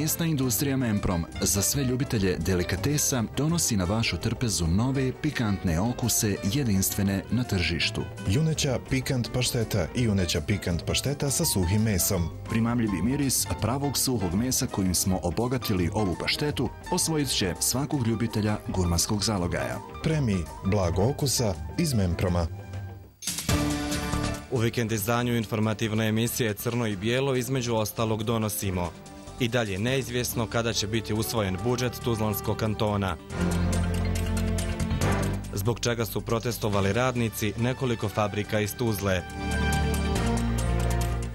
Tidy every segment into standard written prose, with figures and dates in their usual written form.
Mesna industrija Memprom za sve ljubitelje delikatesa donosi na vašu trpezu nove pikantne okuse jedinstvene na tržištu. Juneća pikant pašteta i juneća pikant pašteta sa suhim mesom. Primamljivi miris pravog suhog mesa kojim smo obogatili ovu paštetu osvojit će svakog ljubitelja gurmanskog zalogaja. Premi blago okusa iz Memproma. U vikend izdanju informativne emisije Crno i bijelo između ostalog donosimo: i dalje neizvjesno kada će biti usvojen budžet Tuzlanskog kantona. Zbog čega su protestovali radnici nekoliko fabrika iz Tuzle.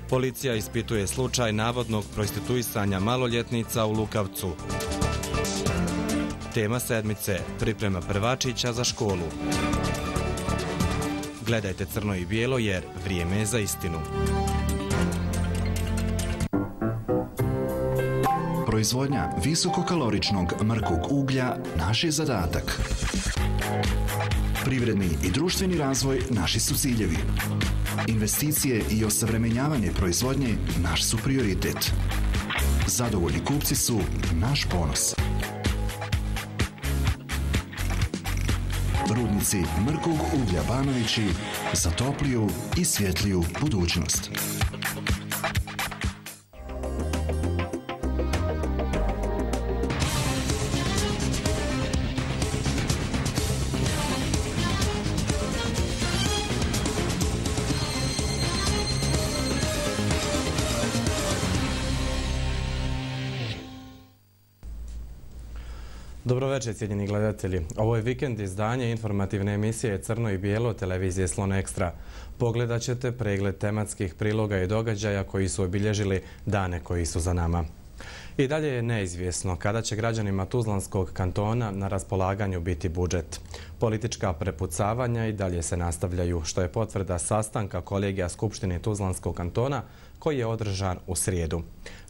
Policija ispituje slučaj navodnog prostituisanja maloljetnica u Lukavcu. Tema sedmice: priprema prvačića za školu. Gledajte Crno i bijelo jer vrijeme je za istinu. Proizvodnja visokokaloričnog mrkog uglja naš je zadatak. Privredni i društveni razvoj naši su ciljevi. Investicije i osavremenjavanje proizvodnje naš su prioritet. Zadovoljni kupci su naš ponos. Rudnici mrkog uglja Banovići za topliju i svjetliju budućnost. Dobro večer, cijenjeni gledatelji. Ovo je vikend izdanje informativne emisije Crno i bijelo televizije Slon Ekstra. Pogledat ćete pregled tematskih priloga i događaja koji su obilježili dane koji su za nama. I dalje je neizvjesno kada će građanima Tuzlanskog kantona na raspolaganju biti budžet. Politička prepucavanja i dalje se nastavljaju, što je potvrda sastanka kolegija Skupštine Tuzlanskog kantona koji je održan u srijedu.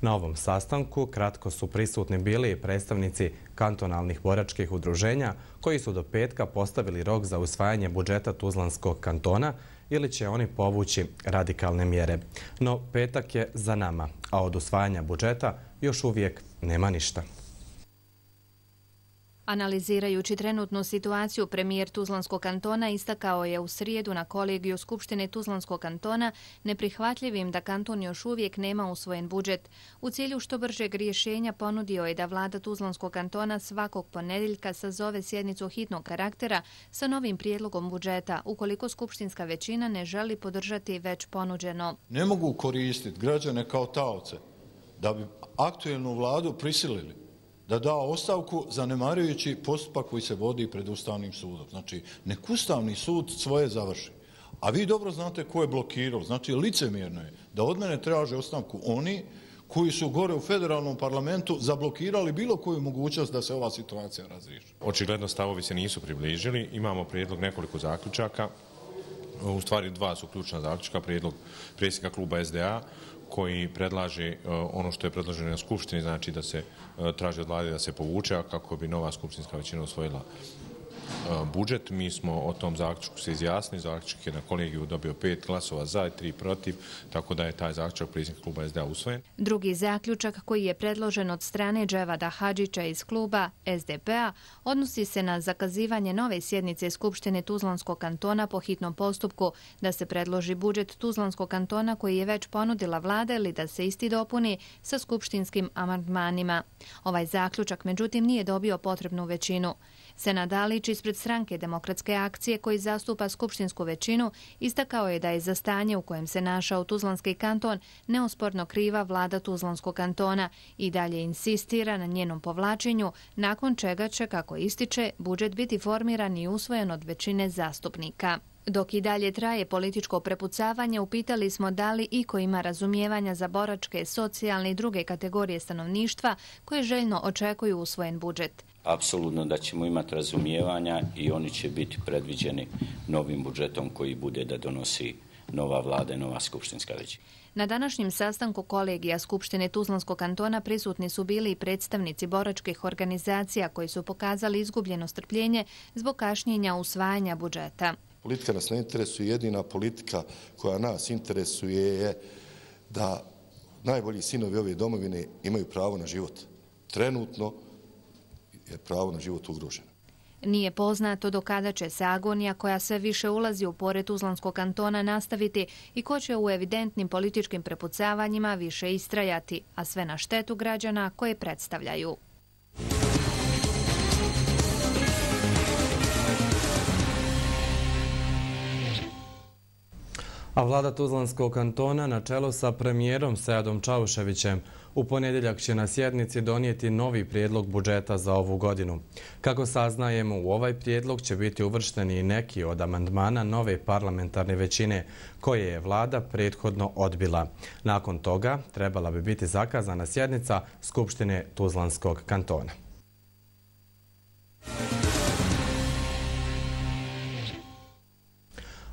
Na ovom sastanku kratko su prisutni bili predstavnici kantonalnih boračkih udruženja koji su do petka postavili rok za usvajanje budžeta Tuzlanskog kantona ili će oni povući radikalne mjere. No petak je za nama, a od usvajanja budžeta još uvijek nema ništa. Analizirajući trenutnu situaciju, premijer Tuzlanskog kantona istakao je u srijedu na kolegiju Skupštine Tuzlanskog kantona neprihvatljivim da kanton još uvijek nema usvojen budžet. U cilju što bržeg rješenja ponudio je da vlada Tuzlanskog kantona svakog ponedjeljka sazove sjednicu hitnog karaktera sa novim prijedlogom budžeta, ukoliko skupštinska većina ne želi podržati već ponuđeno. Ne mogu koristiti građane kao taoce da bi aktuelnu vladu prisilili da da ostavku zanemarujući postupak koji se vodi pred Ustavnim sudom. Znači, nek Ustavni sud svoje završi. A vi dobro znate ko je blokirao. Znači, licemjerno je da od mene traže ostavku oni koji su gore u federalnom parlamentu zablokirali bilo koju mogućnost da se ova situacija razriješi. Očigledno stavovi se nisu približili. Imamo prijedlog nekoliko zaključaka. U stvari dva su ključna zaključka. Prijedlog predsjednika kluba SDA koji predlaže ono što je predloženo na Skupštini, znači da se traži od vlade da se povuče, a kako bi nova skupštinska većina usvojila budžet. Mi smo o tom zaključku se izjasnili. Zaključak je na kolegiju dobio 5 glasova za i 3 protiv, tako da je taj zaključak predsjednika kluba SDA usvojen. Drugi zaključak koji je predložen od strane Dževada Hadžića iz kluba SDP-a odnosi se na zakazivanje nove sjednice Skupštine Tuzlanskog kantona po hitnom postupku, da se predloži budžet Tuzlanskog kantona koji je već ponudila vlada ili da se isti dopuni sa skupštinskim amandmanima. Ovaj zaključak međutim nije dobio potrebnu većinu. Senad Alić ispred stranke Demokratske akcije koji zastupa skupštinsku većinu istakao je da je za stanje u kojem se našao Tuzlanski kanton neosporno kriva vlada Tuzlanskog kantona i dalje insistira na njenom povlačenju, nakon čega će, kako ističe, budžet biti formiran i usvojen od većine zastupnika. Dok i dalje traje političko prepucavanje, upitali smo da li iko ima razumijevanja za boračke, socijalne i druge kategorije stanovništva koje željno očekuju usvojen budžet. Apsolutno da ćemo imati razumijevanja i oni će biti predviđeni novim budžetom koji bude da donosi nova vlada i nova skupštinska većina. Na današnjem sastanku kolegija Skupštine Tuzlanskog kantona prisutni su bili i predstavnici boračkih organizacija koji su pokazali izgubljeno strpljenje zbog kašnjenja usvajanja budžeta. Politika nas ne interesuje, jedina politika koja nas interesuje je da najbolji sinovi ove domovine imaju pravo na život. trenutno je pravo na život ugroženo. Nije poznato do kada će se agonija koja sve više ulazi u pored Tuzlanskog kantona nastaviti i ko će u evidentnim političkim prepucavanjima više istrajati, a sve na štetu građana koje predstavljaju. A vlada Tuzlanskog kantona na čelu sa premijerom Seadom Čauševićem u ponedjeljak će na sjednici donijeti novi prijedlog budžeta za ovu godinu. Kako saznajemo, u ovaj prijedlog će biti uvršteni i neki od amandmana nove parlamentarne većine koje je vlada prethodno odbila. Nakon toga trebala bi biti zakazana sjednica Skupštine Tuzlanskog kantona.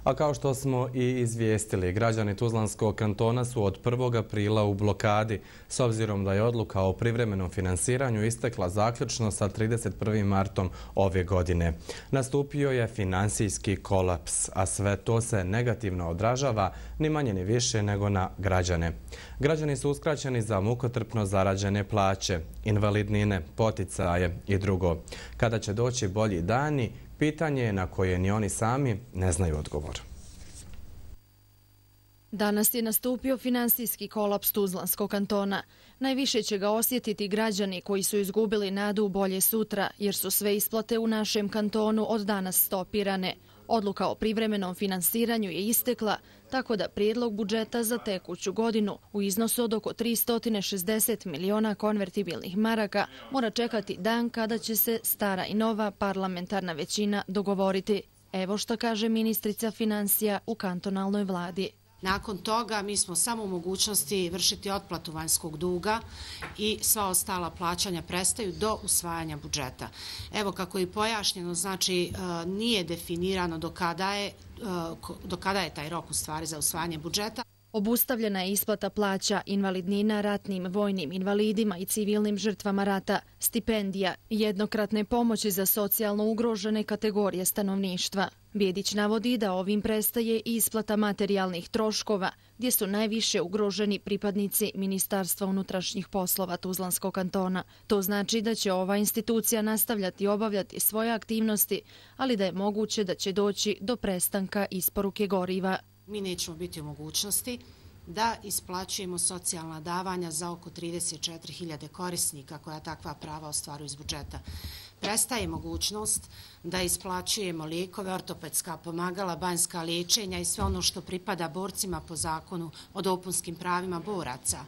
A kao što smo i izvijestili, građani Tuzlanskog kantona su od 1. aprila u blokadi, s obzirom da je odluka o privremenom finansiranju istekla zaključno sa 31. martom ove godine. Nastupio je finansijski kolaps, a sve to se negativno odražava ni manje ni više nego na građane. Građani su uskraćeni za mukotrpno zarađene plaće, invalidnine, poticaje i drugo. Kada će doći bolji dani, pitanje je na koje ni oni sami ne znaju odgovor. Danas je nastupio finansijski kolaps Tuzlanskog kantona. Najviše će ga osjetiti građani koji su izgubili nadu u bolje sutra, jer su sve isplate u našem kantonu od danas stopirane. Odluka o privremenom finansiranju je istekla, tako da prijedlog budžeta za tekuću godinu u iznosu od oko 360 miliona konvertibilnih maraka mora čekati dan kada će se stara i nova parlamentarna većina dogovoriti. Evo što kaže ministrica financija u kantonalnoj vladi. Nakon toga mi smo samo u mogućnosti vršiti otplatu vanjskog duga i sva ostala plaćanja prestaju do usvajanja budžeta. Evo kako je pojašnjeno, znači nije definirano do kada je taj rok u stvari za usvajanje budžeta. Obustavljena je isplata plaća invalidnina ratnim vojnim invalidima i civilnim žrtvama rata, stipendija i jednokratne pomoći za socijalno ugrožene kategorije stanovništva. Bjedić navodi da ovim prestaje i isplata materijalnih troškova, gdje su najviše ugroženi pripadnici Ministarstva unutrašnjih poslova Tuzlanskog kantona. To znači da će ova institucija nastavljati obavljati svoje aktivnosti, ali da je moguće da će doći do prestanka isporuke goriva. Mi nećemo biti u mogućnosti da isplaćujemo socijalna davanja za oko 34.000 korisnika koja takva prava ostvaruju iz budžeta. Prestaje mogućnost da isplaćujemo lijekove, ortopedska pomagala, banjska liječenja i sve ono što pripada borcima po zakonu o dopunskim pravima boraca.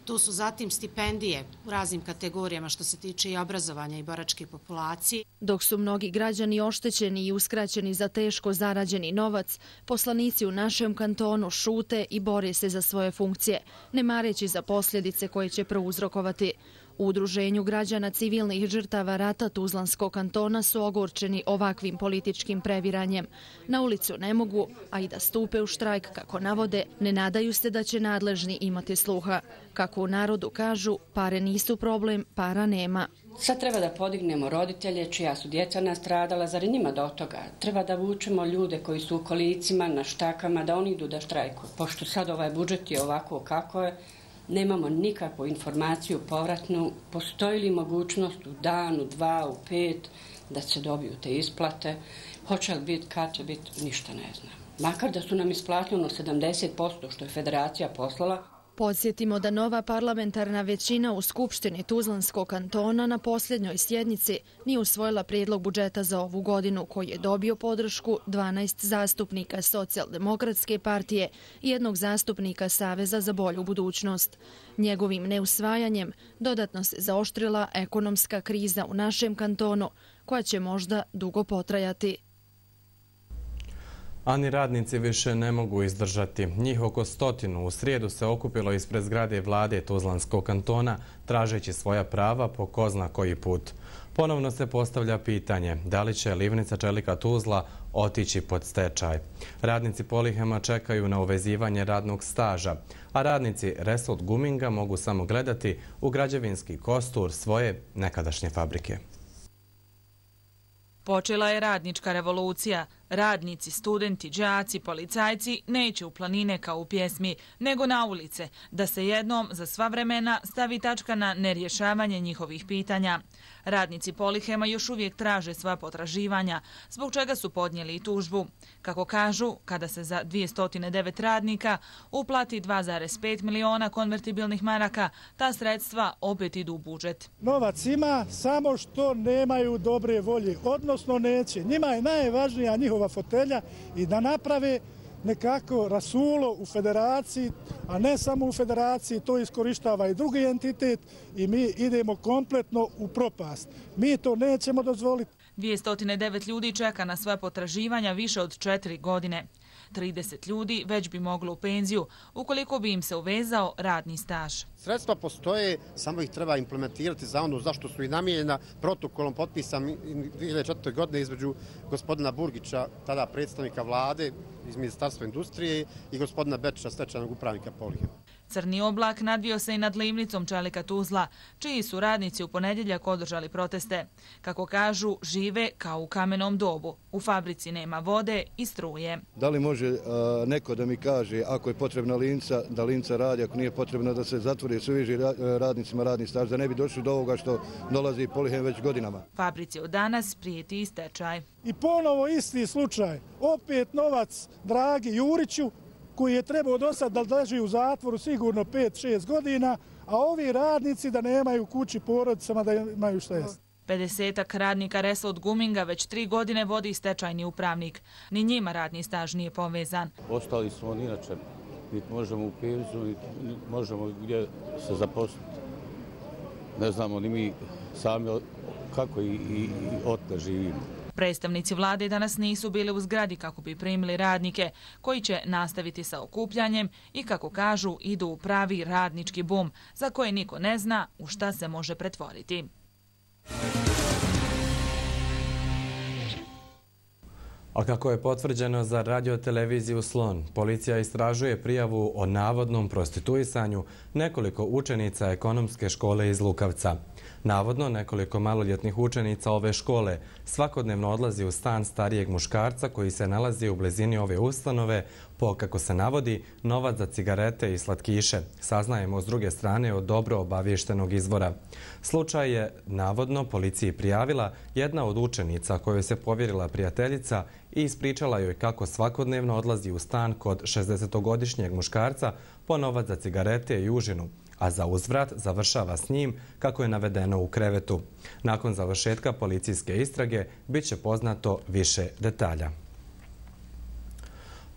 Tu su zatim stipendije u raznim kategorijama što se tiče i obrazovanja i boračke populacije. Dok su mnogi građani oštećeni i uskraćeni za teško zarađeni novac, poslanici u našem kantonu šute i bore se za svoje funkcije, ne mareći za posljedice koje će prouzrokovati. U Udruženju građana civilnih žrtava rata Tuzlanskog kantona su ogorčeni ovakvim političkim previranjem. Na ulicu ne mogu, a i da stupe u štrajk, kako navode, ne nadaju se da će nadležni imati sluha. Kako u narodu kažu, pare nisu problem, para nema. Sad treba da podignemo roditelje čija su djeca nastradala, zar i njima do toga? Treba da vučemo ljude koji su u kolicima, na štakama, da oni idu da štrajkuju. Pošto sad ovaj budžet je ovako kako je, nemamo nikakvu informaciju povratnu, postoji li mogućnost u danu, 2, u 5 da se dobiju te isplate, hoće li biti, kad će biti, ništa ne znam. Makar da su nam isplatili 70% što je federacija poslala. Podsjetimo da nova parlamentarna većina u Skupštini Tuzlanskog kantona na posljednjoj sjednici nije usvojila prijedlog budžeta za ovu godinu koji je dobio podršku 12 zastupnika Socijaldemokratske partije i jednog zastupnika Saveza za bolju budućnost. Njegovim neusvajanjem dodatno se zaoštrila ekonomska kriza u našem kantonu koja će možda dugo potrajati. A ni radnici više ne mogu izdržati. Njih oko 100 u srijedu se okupilo ispred zgrade vlade Tuzlanskog kantona tražeći svoja prava po ko zna koji put. Ponovno se postavlja pitanje da li će livnica čelika Tuzla otići pod stečaj. Radnici Polihema čekaju na uvezivanje radnog staža, a radnici Result Guminga mogu samo gledati u građevinski kostur svoje nekadašnje fabrike. Počela je radnička revolucija. Radnici, studenti, đaci, policajci neće u planine kao u pjesmi, nego na ulice, da se jednom za sva vremena stavi tačka na nerješavanje njihovih pitanja. Radnici Polihema još uvijek traže sva potraživanja, zbog čega su podnijeli i tužbu. Kako kažu, kada se za 209 radnika uplati 2,5 miliona konvertibilnih maraka, ta sredstva opet idu u budžet. Novac ima, samo što nemaju dobre volje, odnosno neće. Njima je najvažnija njihova fotelja i da naprave nekako rasulo u federaciji, a ne samo u federaciji, to iskorištava i drugi entitet i mi idemo kompletno u propast. Mi to nećemo dozvoliti. 209 ljudi čeka na sva potraživanja više od 4 godine. 30 ljudi već bi moglo u penziju ukoliko bi im se uvezao radni staž. Sredstva postoje, samo ih treba implementirati za ono zašto su i namijenjena protokolom potpisan 2004. godine između gospodina Burgića, tada predstavnika vlade iz Ministarstva industrije i gospodina Bečića, stečajnog upravnika Polihema. Crni oblak nadvio se i nad Livnicom čelika Tuzla, čiji su radnici u ponedjeljak održali proteste. Kako kažu, žive kao u kamenom dobu. U fabrici nema vode i struje. Da li može neko da mi kaže ako je potrebna linca, da linca radi, ako nije potrebno da se zatvori suviži radnicima radni staž, da ne bi došli do ovoga što dolazi Polihem već godinama. Fabrici od danas prijeti i stečaj. I ponovo isti slučaj. Opet novac Dragi Juriću, koji je trebao do sad da leži u zatvoru sigurno 5-6 godina, a ovi radnici da nemaju kući porodicama, da imaju šta jesti. 50-ak radnika Resa od Guminga već 3 godine vodi stečajni upravnik. Ni njima radni staž nije povezan. Ostali smo inače, niti možemo u penziju, niti možemo gdje se zaposliti. Ne znamo ni mi sami kako i otme živimo. Predstavnici vlade danas nisu bili u zgradi kako bi primili radnike, koji će nastaviti sa okupljanjem i, kako kažu, idu u pravi radnički bum, za koje niko ne zna u šta se može pretvoriti. A kako je potvrđeno za radioteleviziju Slon, policija istražuje prijavu o navodnom prostituisanju nekoliko učenica ekonomske škole iz Lukavca. Navodno, nekoliko maloljetnih učenica ove škole svakodnevno odlazi u stan starijeg muškarca koji se nalazi u blizini ove ustanove po, kako se navodi, novac za cigarete i slatkiše. Saznajemo s druge strane od dobro obaviještenog izvora. Slučaj je navodno policiji prijavila jedna od učenica kojoj se povjerila prijateljica i ispričala joj kako svakodnevno odlazi u stan kod 60-godišnjeg muškarca po novac za cigarete i užinu, a za uzvrat završava s njim kako je navedeno u krevetu. Nakon završetka policijske istrage bit će poznato više detalja.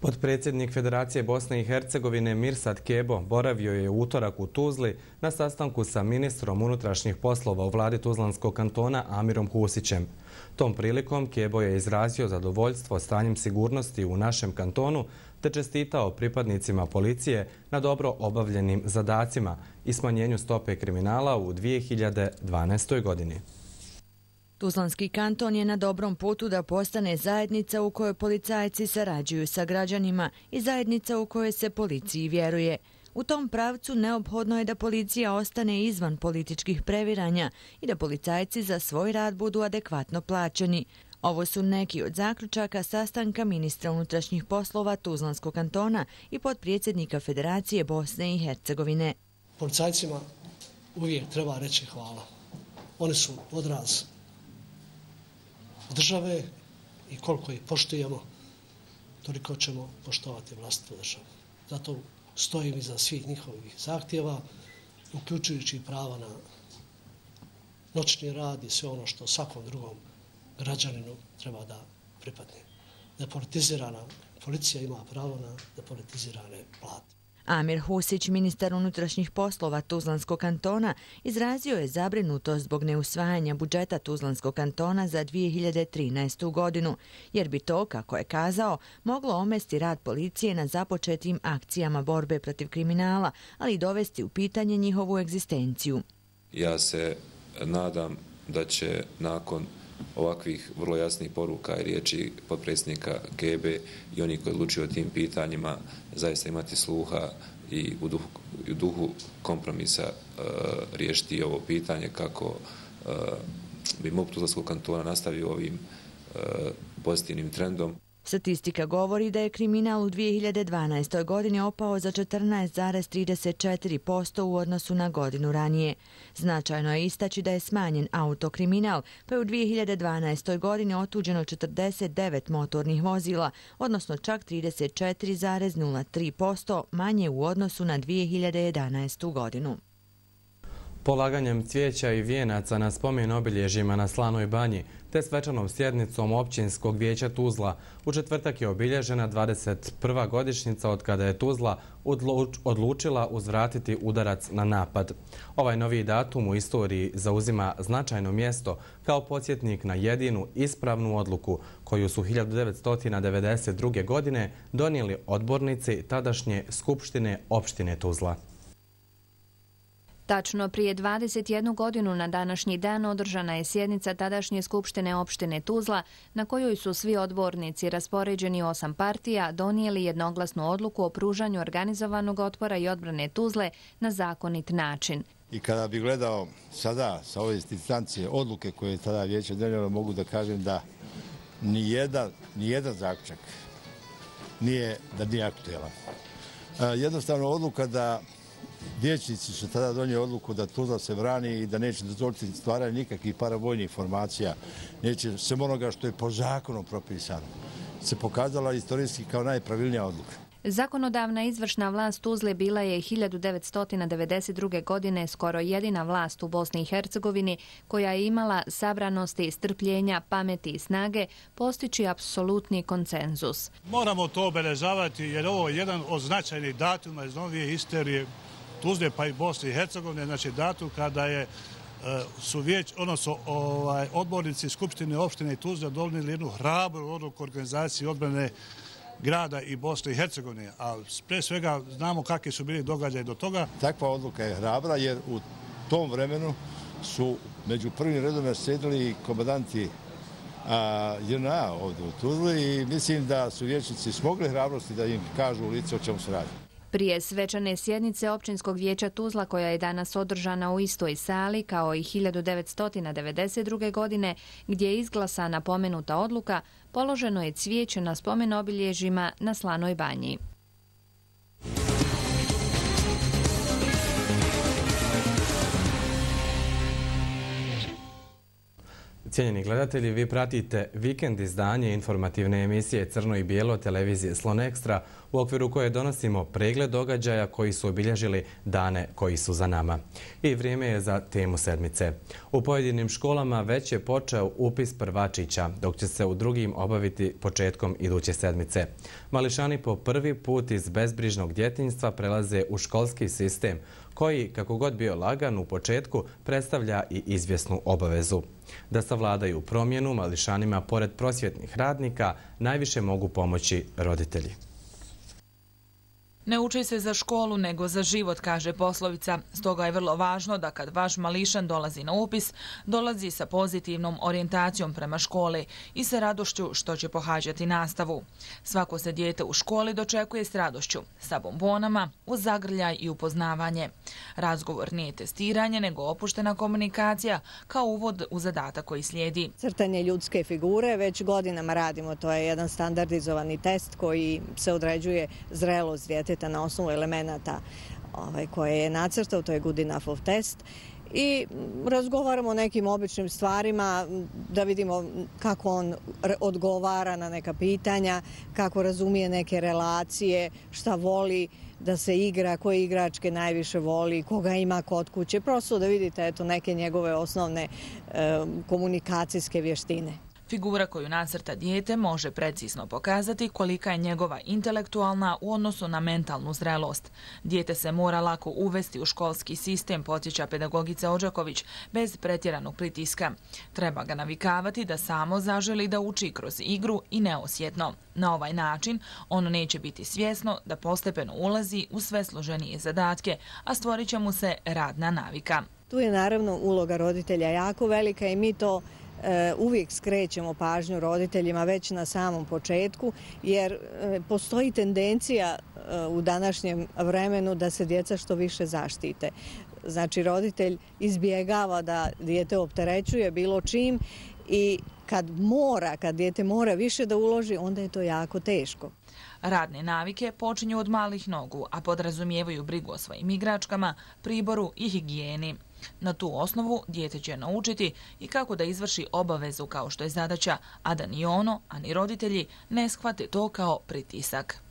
Potpredsjednik Federacije Bosne i Hercegovine Mirsad Kebo boravio je u utorak u Tuzli na sastanku sa ministrom unutrašnjih poslova u vladi Tuzlanskog kantona Amirom Husićem. Tom prilikom Kebo je izrazio zadovoljstvo stanjem sigurnosti u našem kantonu te čestitao pripadnicima policije na dobro obavljenim zadacima i smanjenju stope kriminala u 2012. godini. Tuzlanski kanton je na dobrom putu da postane zajednica u kojoj policajci sarađuju sa građanima i zajednica u kojoj se policiji vjeruje. U tom pravcu neophodno je da policija ostane izvan političkih previranja i da policajci za svoj rad budu adekvatno plaćeni. Ovo su neki od zaključaka sastanka ministra unutrašnjih poslova Tuzlanskog kantona i potpredsjednika Federacije Bosne i Hercegovine. Policajcima uvijek treba reći hvala. Oni su odraz države i koliko ih poštujemo, toliko ćemo poštovati vlastitu državu. Zato stojim iza svih njihovih zahtjeva, uključujući prava na noćni rad i sve ono što svakom drugom građaninu treba da pripadne. Depolitizirana policija ima pravo na depolitizirane plate. Amir Husić, ministar unutrašnjih poslova Tuzlanskog kantona, izrazio je zabrinutost zbog neusvajanja budžeta Tuzlanskog kantona za 2013. godinu, jer bi to, kako je kazao, moglo omesti rad policije na započetim akcijama borbe protiv kriminala, ali i dovesti u pitanje njihovu egzistenciju. Ja se nadam da će nakon ovakvih vrlo jasnih poruka i riječi potpredsjednika Kebe i oni koji odlučuju o tim pitanjima zaista imati sluha i u duhu kompromisa riješiti ovo pitanje kako bi MUP Tuzlanskog kantona nastavio ovim pozitivnim trendom. Statistika govori da je kriminal u 2012. godini opao za 14,34% u odnosu na godinu ranije. Značajno je istaći da je smanjen autokriminal, pa je u 2012. godini otuđeno 49 motornih vozila, odnosno čak 34,03% manje u odnosu na 2011. godinu. Polaganjem cvijeća i vijenaca na spomen obilježjima na Slanoj banji te svečanom sjednicom Općinskog vijeća Tuzla u četvrtak je obilježena 21. godišnjica od kada je Tuzla odlučila uzvratiti udarac na napad. Ovaj novi datum u istoriji zauzima značajno mjesto kao podsjetnik na jedinu ispravnu odluku koju su 1992. godine donijeli odbornici tadašnje Skupštine opštine Tuzla. Tačno prije 21 godinu na današnji dan održana je sjednica tadašnje Skupštine opštine Tuzla na kojoj su svi odbornici raspoređeni u 8 partija donijeli jednoglasnu odluku o pružanju organizovanog otpora i odbrane Tuzle na zakonit način. I kada bi gledao sada sa ove distancije odluke koje je tada vijeće donijelo, mogu da kažem da nijedan zaključak nije aktuelan. Jednostavno odluka da vijećnici su tada donijeli odluku da Tuzla se brani i da neće dozvoliti stvaranje nikakvih paravojnih formacija, neće sve onoga što je po zakonu propisano, se pokazala istorijski kao najpravilnija odluka. Zakonodavna izvršna vlast Tuzle bila je 1992. godine skoro jedina vlast u Bosni i Hercegovini koja je imala sabranosti, strpljenja, pameti i snage postići apsolutni konsenzus. Moramo to obeležavati jer ovo je jedan od značajnih datuma iz novije istorije Tuzle pa i Bosne i Hercegovine, znači datum kada su odbornici Skupštine opštine Tuzla donijeli jednu hrabru odluku organizacije odbrane grada i Bosne i Hercegovine, a pre svega znamo kakvi su bili događaji do toga. Takva odluka je hrabra jer u tom vremenu su među prvim redom sjedili komandanti JNA ovdje u Tuzli i mislim da su vijećnici smogli hrabrosti da im kažu u lice o čemu se radi. Prije svečane sjednice Općinskog vijeća Tuzla, koja je danas održana u istoj sali kao i 1992. godine, gdje je izglasana pomenuta odluka, položeno je cvijeće na spomen obilježjima na Slanoj banji. Cijenjeni gledatelji, vi pratite vikend izdanje informativne emisije Crno i bijelo televizije Slon Extra, u okviru koje donosimo pregled događaja koji su obilježili dane koji su za nama. I vrijeme je za temu sedmice. U pojedinim školama već je počeo upis prvačića, dok će se u drugim obaviti početkom iduće sedmice. Mališani po prvi put iz bezbrižnog djetinjstva prelaze u školski sistem, koji, kako god bio lagan u početku, predstavlja i izvjesnu obavezu. Da savladaju promjenu, mališanima, pored prosvjetnih radnika, najviše mogu pomoći roditelji. Ne uči se za školu, nego za život, kaže poslovica. Stoga je vrlo važno da kad vaš mališan dolazi na upis, dolazi sa pozitivnom orijentacijom prema školi i sa radošću što će pohađati nastavu. Svako se dijete u školi dočekuje s radošću, sa bombonama, uz zagrljaj i upoznavanje. Razgovor nije testiranje, nego opuštena komunikacija kao uvod u zadatak koji slijedi. Crtanje ljudske figure već godinama radimo. To je jedan standardizovani test koji se određuje zrelost djeteta na osnovu elemenata koje je nacrtao, to je good enough of test. I razgovaramo o nekim običnim stvarima da vidimo kako on odgovara na neka pitanja, kako razumije neke relacije, šta voli da se igra, koje igračke najviše voli, koga ima kod kuće. Prosto da vidite neke njegove osnovne komunikacijske vještine. Figura koju nacrta dijete može precizno pokazati kolika je njegova intelektualna u odnosu na mentalnu zrelost. Dijete se mora lako uvesti u školski sistem, podsjeća pedagogica Odžaković, bez pretjeranog pritiska. Treba ga navikavati da samo zaželi da uči kroz igru i neosjetno. Na ovaj način ono neće biti svjesno da postepeno ulazi u sve složenije zadatke, a stvorit će mu se radna navika. Tu je naravno uloga roditelja jako velika i mi to uvijek skrećemo pažnju roditeljima već na samom početku, jer postoji tendencija u današnjem vremenu da se djeca što više zaštite. Znači, roditelj izbjegava da dijete opterećuje bilo čim i kad dijete mora više da uloži, onda je to jako teško. Radne navike počinju od malih nogu, a podrazumijevaju brigu o svojim igračkama, priboru i higijeni. Na tu osnovu dijete će naučiti i kako da izvrši obavezu kao što je zadaća, a da ni ono, a ni roditelji ne shvate to kao pritisak.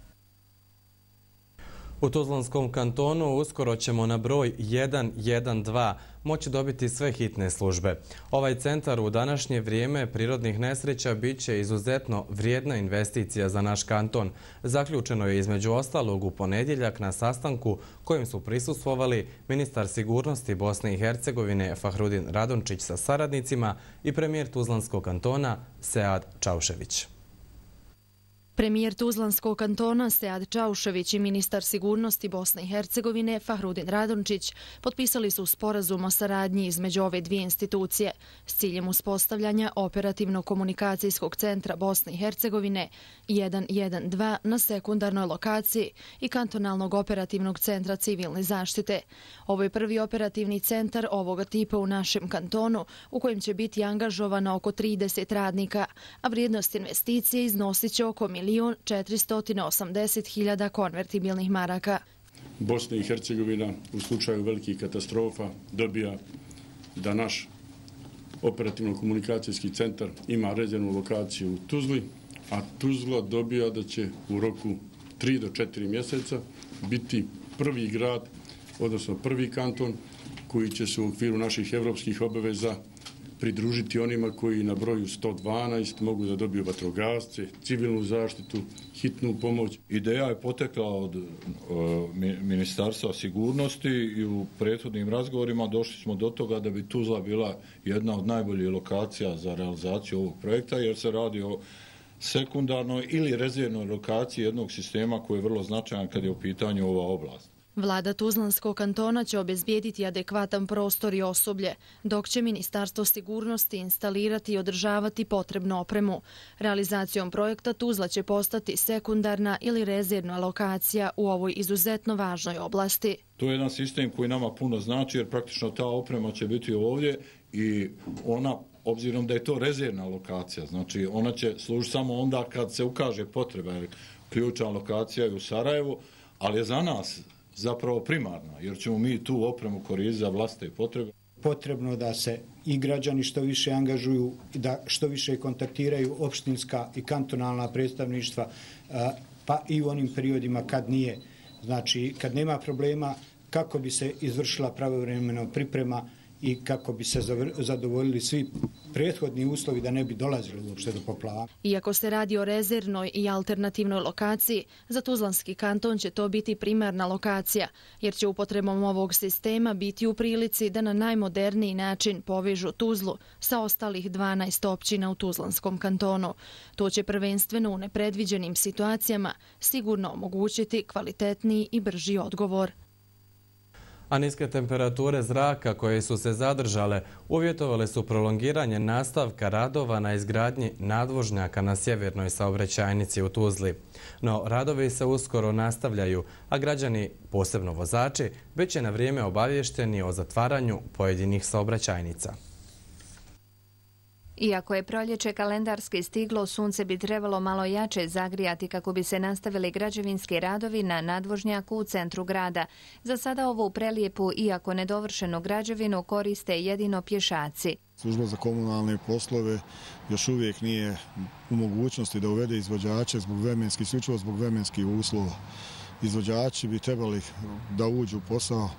U Tuzlanskom kantonu uskoro ćemo na broj 112 moći dobiti sve hitne službe. Ovaj centar u današnje vrijeme prirodnih nesreća bit će izuzetno vrijedna investicija za naš kanton. Zaključeno je između ostalog u ponedjeljak na sastanku kojem su prisustvovali ministar sigurnosti Bosne i Hercegovine Fahrudin Radončić sa saradnicima i premijer Tuzlanskog kantona Sead Čaušević. Premijer Tuzlanskog kantona Sead Čaušević i ministar sigurnosti Bosne i Hercegovine Fahrudin Radončić potpisali su sporazum o saradnji između ove dvije institucije s ciljem uspostavljanja operativno-komunikacijskog centra Bosne i Hercegovine 112 na sekundarnoj lokaciji i kantonalnog operativnog centra civilne zaštite. Ovo je prvi operativni centar ovoga tipa u našem kantonu u kojem će biti angažovano oko 30 radnika, a vrijednost investicije iznosit će oko 1.480.000 konvertibilnih maraka. Bosna i Hercegovina u slučaju velikih katastrofa dobija da naš operativno-komunikacijski centar ima rezervnu lokaciju u Tuzli, a Tuzla dobija da će u roku 3 do 4 mjeseca biti prvi grad, odnosno prvi kanton koji će se u okviru naših evropskih obaveza pridružiti onima koji na broju 112 mogu da dobiju vatrogasce, civilnu zaštitu, hitnu pomoć. Ideja je potekla od Ministarstva sigurnosti i u prethodnim razgovorima došli smo do toga da bi Tuzla bila jedna od najboljih lokacija za realizaciju ovog projekta, jer se radi o sekundarnoj ili rezervnoj lokaciji jednog sistema koji je vrlo značajan kad je u pitanju ova oblast. Vlada Tuzlanskog kantona će obezbijediti adekvatan prostor i osoblje, dok će Ministarstvo sigurnosti instalirati i održavati potrebnu opremu. Realizacijom projekta Tuzla će postati sekundarna ili rezervna lokacija u ovoj izuzetno važnoj oblasti. To je jedan sistem koji nama puno znači, jer praktično ta oprema će biti ovdje i ona, obzirom da je to rezervna lokacija, znači ona će služiti samo onda kad se ukaže potreba, jer ključna lokacija je u Sarajevu, ali je za nas zapravo primarna, jer ćemo mi tu opremu koristiti za vlastite potrebe. Potrebno da se i građani što više angažuju, da što više kontaktiraju opštinska i kantonalna predstavništva, pa i u onim periodima kad nije, znači kad nema problema, kako bi se izvršila pravovremeno priprema i kako bi se zadovoljili svi prethodni uslovi da ne bi dolazili uopšte do poplava. Iako se radi o rezervnoj i alternativnoj lokaciji, za Tuzlanski kanton će to biti primarna lokacija, jer će upotrebom ovog sistema biti u prilici da na najmoderniji način povežu Tuzlu sa ostalih 12 općina u Tuzlanskom kantonu. To će prvenstveno u nepredviđenim situacijama sigurno omogućiti kvalitetniji i brži odgovor. A niske temperature zraka koje su se zadržale uvjetovale su prolongiranje nastavka radova na izgradnji nadvožnjaka na sjevernoj saobraćajnici u Tuzli. No, radovi se uskoro nastavljaju, a građani, posebno vozači, već je na vrijeme obavješteni o zatvaranju pojedinih saobraćajnica. Iako je proljeće kalendarski stiglo, sunce bi trebalo malo jače zagrijati kako bi se nastavili građevinski radovi na nadvožnjaku u centru grada. Za sada ovu prelijepu, iako nedovršenu građevinu, koriste jedino pješaci. Služba za komunalne poslove još uvijek nije u mogućnosti da uvede izvođače isključivo zbog vremenskih uslova. Izvođači bi trebali da uđu u posao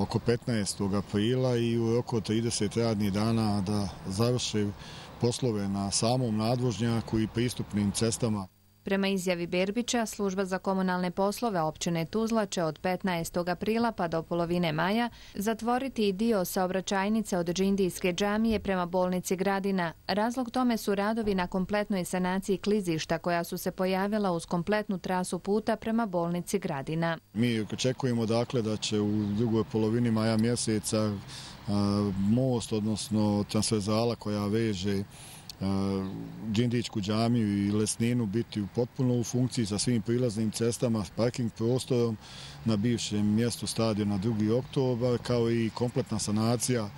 oko 15. aprila i u oko 30 radnih dana da završe poslove na samom nadvožnjaku i pristupnim cestama. Prema izjavi Berbića, služba za komunalne poslove općine Tuzla će od 15. aprila pa do polovine maja zatvoriti i dio saobraćajnice od Džindijske džamije prema bolnici Gradina. Razlog tome su radovi na kompletnoj sanaciji klizišta koja su se pojavila uz kompletnu trasu puta prema bolnici Gradina. Mi očekujemo dakle da će u drugoj polovini maja mjeseca most, odnosno transverzala koja veže Džindićku džamiju i Lesninu biti potpuno u funkciji sa svim prilaznim cestama, parking prostorom na bivšem mjestu stadiona 2. oktobar, kao i kompletna sanacija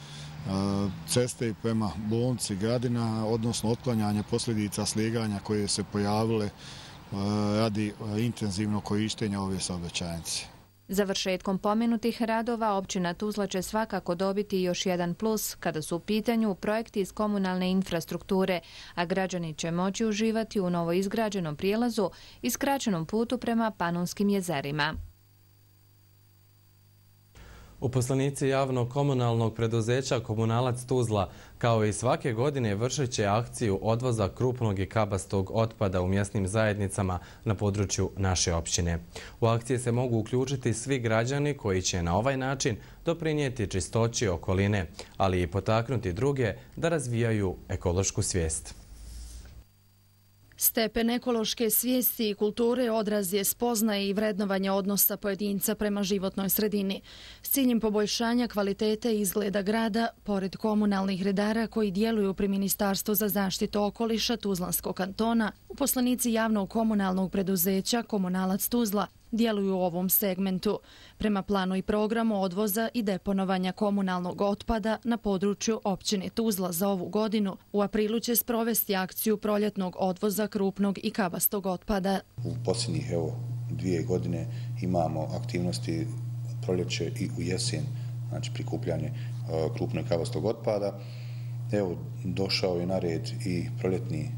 ceste prema bolnici Gradina, odnosno otklanjanje posljedica sliganja koje se pojavile radi intenzivnog korištenja ove saobraćajnice. Završetkom pomenutih radova općina Tuzla će svakako dobiti još jedan plus kada su u pitanju projekti iz komunalne infrastrukture, a građani će moći uživati u novo izgrađenom prijelazu i skraćenom putu prema Panonskim jezerima. Uposlenici javnog komunalnog preduzeća Komunalac Tuzla kao i svake godine vršit će akciju odvoza krupnog i kabastog otpada u mjesnim zajednicama na području naše općine. U akcije se mogu uključiti svi građani koji će na ovaj način doprinijeti čistoći okoline, ali i potaknuti druge da razvijaju ekološku svijest. Stepen ekološke svijesti i kulture odraz je spoznaje i vrednovanja odnosa pojedinca prema životnoj sredini. S ciljem poboljšanja kvalitete i izgleda grada, pored komunalnih redara koji djeluju pri Ministarstvu za zaštitu okoliša Tuzlanskog kantona, uposlenici javnog komunalnog preduzeća Komunalac Tuzla djeluju u ovom segmentu. Prema planu i programu odvoza i deponovanja komunalnog otpada na području općine Tuzla za ovu godinu, u aprilu će sprovesti akciju proljetnog odvoza krupnog i kabastog otpada. U posljednjih 2 godine imamo aktivnosti u proljeće i u jesen, znači prikupljanje krupnog i kabastog otpada. Došao je na red i proljetni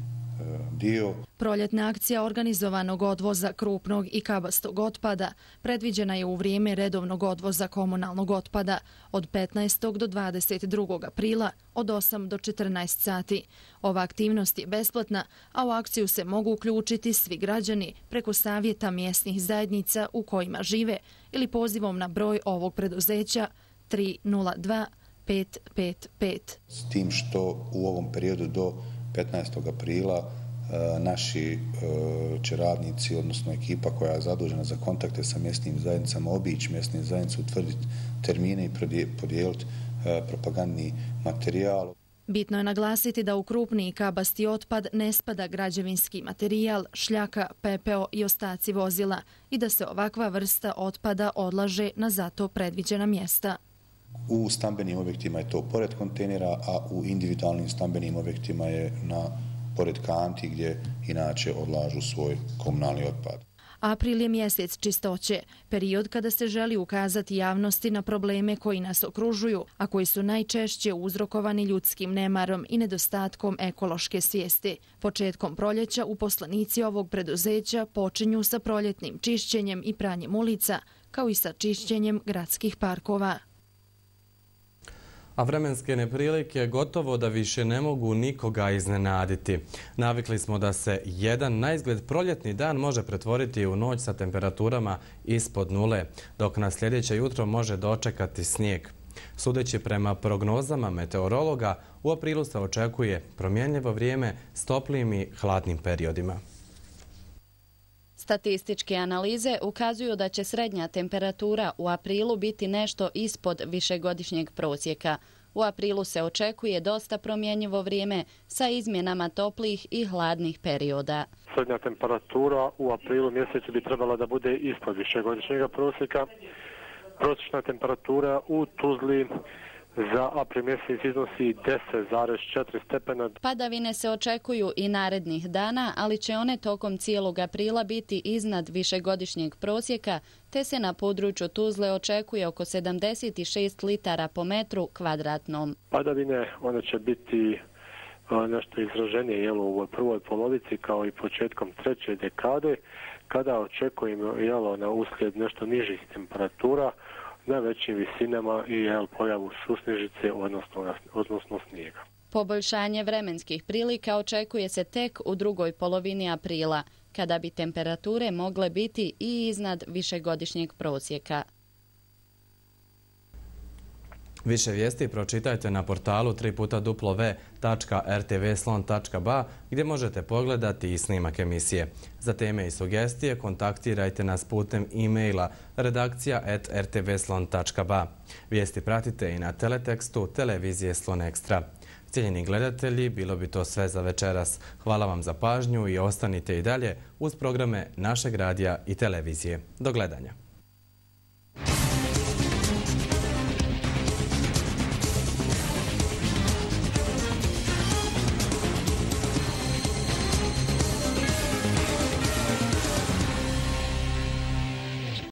dio. Proljetna akcija organizovanog odvoza krupnog i kabastog otpada predviđena je u vrijeme redovnog odvoza komunalnog otpada od 15. do 22. aprila od 8 do 14 sati. Ova aktivnost je besplatna, a u akciju se mogu uključiti svi građani preko savjeta mjesnih zajednica u kojima žive ili pozivom na broj ovog preduzeća 302 555. S tim što u ovom periodu do 15. aprila naši će radnici, odnosno ekipa koja je zadužena za kontakte sa mjesnim zajednicama, obići mjesne zajednice, utvrditi termine i podijeliti propagandni materijal. Bitno je naglasiti da u krupni i kabasti otpad ne spada građevinski materijal, šljaka, pepeo i ostaci vozila i da se ovakva vrsta otpada odlaže na zato predviđena mjesta. U stambenim objektima je to pored kontejnera, a u individualnim stambenim objektima je pored kanti gdje inače odlažu svoj komunalni otpad. April je mjesec čistoće, period kada se želi ukazati javnosti na probleme koji nas okružuju, a koji su najčešće uzrokovani ljudskim nemarom i nedostatkom ekološke svijesti. Početkom proljeća uposlenici ovog preduzeća počinju sa proljetnim čišćenjem i pranjem ulica, kao i sa čišćenjem gradskih parkova. A vremenske neprilike gotovo da više ne mogu nikoga iznenaditi. Navikli smo da se jedan naizgled proljetni dan može pretvoriti u noć sa temperaturama ispod nule, dok na sljedeće jutro može dočekati snijeg. Sudeći prema prognozama meteorologa, u aprilu se očekuje promjenljivo vrijeme s toplim i hladnim periodima. Statističke analize ukazuju da će srednja temperatura u aprilu biti nešto ispod višegodišnjeg prosjeka. U aprilu se očekuje dosta promjenjivo vrijeme sa izmjenama toplih i hladnih perioda. Srednja temperatura u aprilu mjesecu bi trebala da bude ispod višegodišnjeg prosjeka. Prosječna temperatura u Tuzli za april mjesec iznosi 10,4 stepena. Padavine se očekuju i narednih dana, ali će one tokom cijelog aprila biti iznad višegodišnjeg prosjeka, te se na području Tuzle očekuje oko 76 litara po metru kvadratnom. Padavine, one će biti nešto izraženije u ovoj prvoj polovici kao i početkom treće dekade, kada očekujemo na uslijed nešto nižih temperatura na većim visinama i pojavu susnežice, odnosno snijega. Poboljšanje vremenskih prilika očekuje se tek u drugoj polovini aprila, kada bi temperature mogle biti i iznad višegodišnjeg prosjeka. Više vijesti pročitajte na portalu www.rtvslon.ba gdje možete pogledati i snimak emisije. Za teme i sugestije kontaktirajte nas putem e-maila redakcija@rtvslon.ba. Vijesti pratite i na teletekstu televizije Slon Ekstra. Cijenjeni gledatelji, bilo bi to sve za večeras. Hvala vam za pažnju i ostanite i dalje uz programe našeg radija i televizije. Do gledanja.